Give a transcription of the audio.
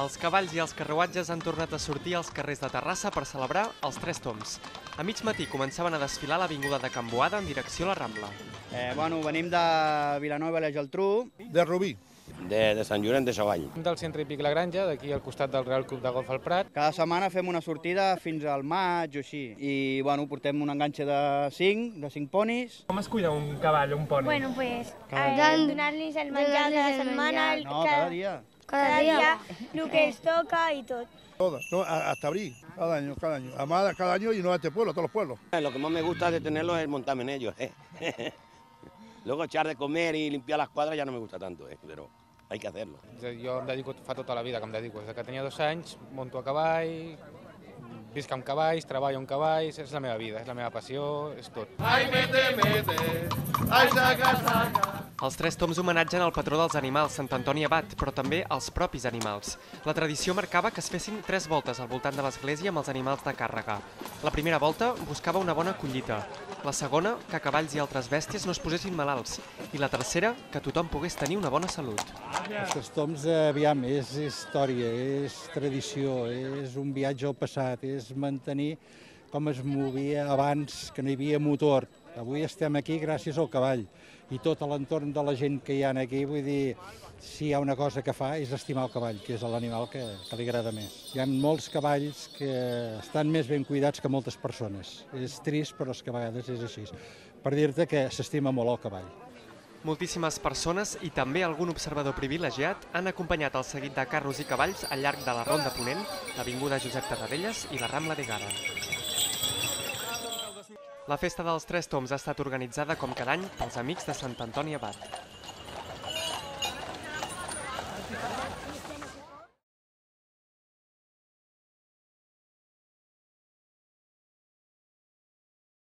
Els cavalls i els carruatges han tornat a sortir als carrers de Terrassa per celebrar els Tres Tombs. A mig matí començaven a desfilar a l'avinguda de Can Boada en direcció a la Rambla. Venim de Vilanova i la Geltrú. De Rubí. De Sant Llorenç de Savall. Del centre hípic La Granja, d'aquí al costat del Real Club de Golf al Prat. Cada setmana fem una sortida fins al maig o així. I portem un enganxe de 5 ponis. Com es cuida un cavall o un poni? Bueno, pues donar-los el menjar de la setmana, No, cada dia. cada dia, el que els toca i tot. Todas, no, hasta abril, cada año. Además, cada año y no a este pueblo, a todos los pueblos. Lo que más me gusta de tenerlos es montarme en ellos. Luego echar de comer y limpiar las cuadras ya no me gusta tanto, pero hay que hacerlo. Jo em dedico, fa tota la vida que em dedico. Des que tenia 2 anys, monto a cavall, visc amb cavalls, treballo amb cavalls, és la meva vida, és la meva passió, és tot. Ai, mete, ai, saca. Els Tres Tombs homenatgen el patró dels animals, Sant Antoni Abat, però també els propis animals. La tradició marcava que es fessin 3 voltes al voltant de l'església amb els animals de càrrega. La primera volta buscava una bona collita. La segona, que cavalls i altres bèsties no es posessin malalts. I la tercera, que tothom pogués tenir una bona salut. Els Tres Tombs, aviam, és història, és tradició, és un viatge al passat, és mantenir com es movia abans, que no hi havia motor. Avui estem aquí gràcies al cavall i tot l'entorn de la gent que hi ha aquí, vull dir, si hi ha una cosa que fa és estimar el cavall, que és l'animal que li agrada més. Hi ha molts cavalls que estan més ben cuidats que moltes persones. És trist, però és que a vegades és així. Per dir-te que s'estima molt el cavall. Moltíssimes persones i també algun observador privilegiat han acompanyat el seguit de carros i cavalls al llarg de la Ronda Ponent, l'avinguda Josep Tarradellas i la Rambla de Gara. La festa dels Tres Tombs ha estat organitzada com cada any pels Amics de Sant Antoni Abat.